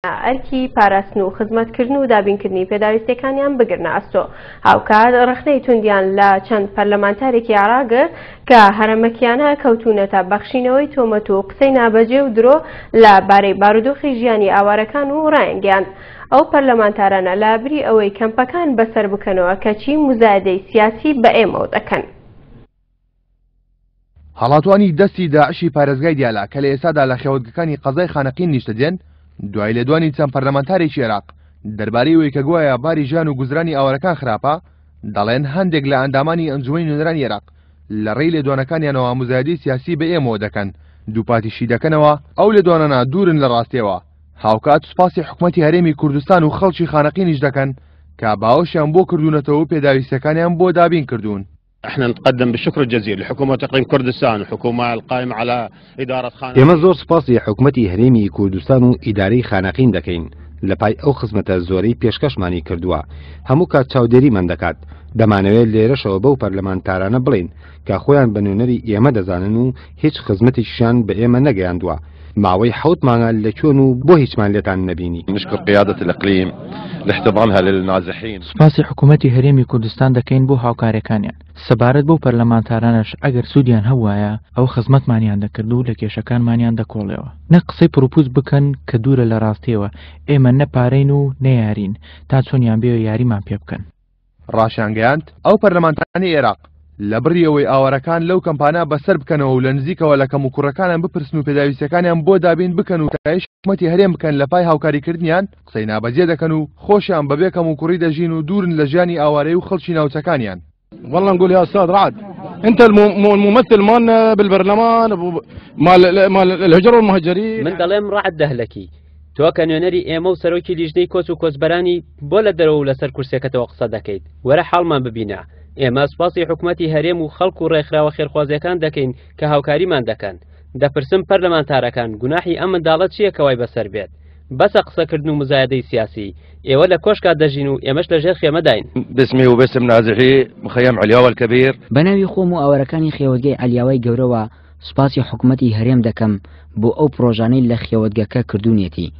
ئەرکی پاراستن و خزمەتکردن و دابینکردنی پێداویستیەکانیان بگرنە ئەستۆ. هاوکات ڕەخنەی توندیان لە چەند پەرلەمانتارێکی عێراق گرت کە هەرەمەکیانە کەوتوونەتە بەخشینەوەی تۆمەت و قسەی نابەجێ و درۆ لە بارەی بارودۆخی ژیانی ئاوارەکان و ڕایانگەیاند ئەو پەرلەمانتارانە لە بری ئەوەی کەمپەکان بەسەر بکەنەوە کەچی موزایەدەی سیاسی بە ئێمەوە دەکەن. هەڵاتوانی دەستی داعشی پارێزگای دیالە کە لە ئێستادا لە خێوەتگەکانی قەزای خانەقین نیشتەجێن، دوای لێدوانی چەند پەرلەمانتارێکی عێراق دەربارەی ئەوەی کە گوایە باری ژیان و گوزرانی ئاوارەکان خراپە، دەڵێن هەندێک لە ئەندامانی ئەنجومەنی نوێنەرانی عێراق لە ڕێی لێدوانەکانیانەوە موزایەدەی سیاسی بە ئێمەوە دەکەن، دووپاتیشی دەکەنەوە ئەو لێدوانانە دوورن لە ڕاستیەوە، هاوکات سوپاسی حکومەتی هەرێمی کوردستان و خەڵکی خانەقینیش دەکەن کە باوەشیان بۆ کردوونەتەوە و پێداویستیەکانیان بۆ دابین کردوون. احنا نتقدم بالشكر الجزيل لحكومة اقليم كردستان وحكومة القائمة على إدارة خانقين. ئێمە زۆر سوپاسی حکومەتی هەرێمی کوردستان و ئیدارەی خانەقین دەکەین لە پای ئەو خزمەتە زۆرەی پێشکەشمانی کردووە، هەموو کات چاودێریمان دەکات، دەمانەوێت لێرەشەوە بەو پەرلەمانتارانە بڵێین کە خۆیان بە نوێنەری ئێمە دەزانن و هیچ خزمەتێکیشیان بە ئێمە نەگەیاندووە، ماوەی حەوت مانگە لە کوێن و بۆ هیچمان لێتان نەبینی؟ نشكر قيادة الإقليم لاحتضانها للنازحين. سوپاسی حکومەتی هەرێمی کوردستان دەکەین بۆ هاوکاریەکانیان، سەبارەت بەو پەرلەمانتارانەش ئەگەر سوودیان هەبوایە ئەوە خزمەتمانیان دەکرد و لە کێشەکانمانیان دەکۆڵیەوە، نەک قسەی پڕوپووچ بکەن کە دوورە لە ڕاستیەوە، ئێمە نە پارەین و نە یارین تا چۆنیان بێ یاریمان پێ بکەن. ڕاشیانگەیاند، ئەو پەرلەمانتارانەی عێراق لە بڕی ئەوەی ئاوارەکان لەو کەمپانە بەسەر بکەنەوە و لە نزیکەوە لە کەموکوڕەکانیان بپرسن و پێداویستیەکانیان بۆ دابین بکەن و ستایشی حکومەتی هەرێم بکەن لە پای هاوکاریکردنیان، قسەی نابەجێ دەکەن و خۆشیان بەبێ کەموکوڕی دەژین و دوورن لە ژیانی ئاوارەیی و خەڵکی ناوچەکانیان. والله نقول يا استاذ رعد انت الممثل مالنا بالبرلمان مال مال الهجرة والمهجرين. من دەڵێم ڕەعد دەهلەکی تۆ کە نوێنەری ئێمە و سەرۆکی لیژنەی کۆچ و کۆچبەرانی بۆ لە دەرەوە و لەسەر کورسیەکەتەوە قسە دەکەیت وەرە حاڵمان ببینە ئێمە سوپاسی حکومەتی هەرێم و خەڵک و ڕێکخراوە خێرخوازیەکان دەکەین کە هاوکاریمان دەکەن دەپرسم پەرلەمانتارەکان گوناحی ئەم منداڵە چییە کە وای بەسەر بێت بەسە قسەکردن و مزایەدەی سیاسی ئێوە لە کۆشکا دەژین و ئێمەش لە ژێر خێمەداین. باسمي وباسم نازحي مخيم علياوة الكبير. بە ناوی خۆم و ئاوارەکانی خێوەتگەی عەلیاوای گەورەوە سوپاسی حکومەتی هەرێم دەکەم بۆ ئەو پڕۆژانەی لە خێوەتگەکە کردوونیەتی.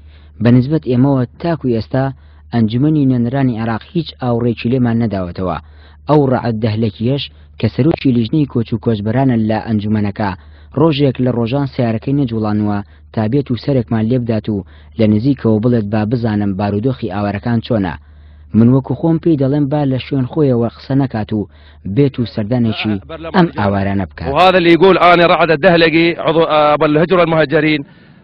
بە نسبەت ئێمەوە تاکو ئێستا ئەنجومەنی نوێنەرانی عێراق هیچ ئاوڕێکی لێمان نەداوەتەوە. ئەو ڕەعد دەهلەکییەش کە سەرۆکی لیژنەی کۆچ و کۆچبەرانە لە ئەنجومەنەکە ڕۆژێک لە ڕۆژان سەیارەکەی نەجوڵانووە تا بێت و سەرێکمان لێبدات و لە نزیکەوە بڵێت با بزانم بارودۆخی ئاوارەکان چۆنە. من وەکو خۆم پێی دەڵێم با لە شوێن خۆیەوە قسە نەکات و بێت و سەردانێکی ئەم ئاوارانە بکات. وهذا اللي يقول أنا رعد الدهلقي عضو أبو الهجرة المهجرين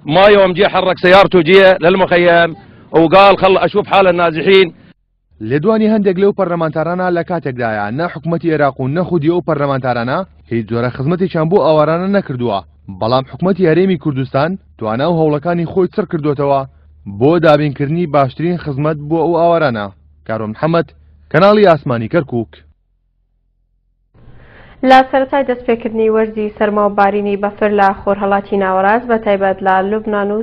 ما يوم جه حرك سيارته جه للمخيم وقال خل أشوف حال النازحين. لێدوانی هەندێک لەو پەرلەمانتارانە لە کاتێکدایە نە حکومەتی عێراق و نە خودی ئەو پەرلەمانتارانە هیچ جۆرە خزمەتێکیان بۆ ئاوارانە نەکردووە، بەڵام حکومەتی هەرێمی کوردستان توانا و هەوڵەکانی خۆی چڕ کردووەتەوە بۆ دابینکردنی باشترین خزمەت بۆ ئەو ئاوارانە. کاروان محەمەد، کەناڵی ئاسمانی کەرکوک. لە سەرەتای دەستپێکردنی وەرزی سەرما و بارینی بەفر لە خۆرهەڵاتی ناوەڕاست بە تایبەت لە لوبنان و.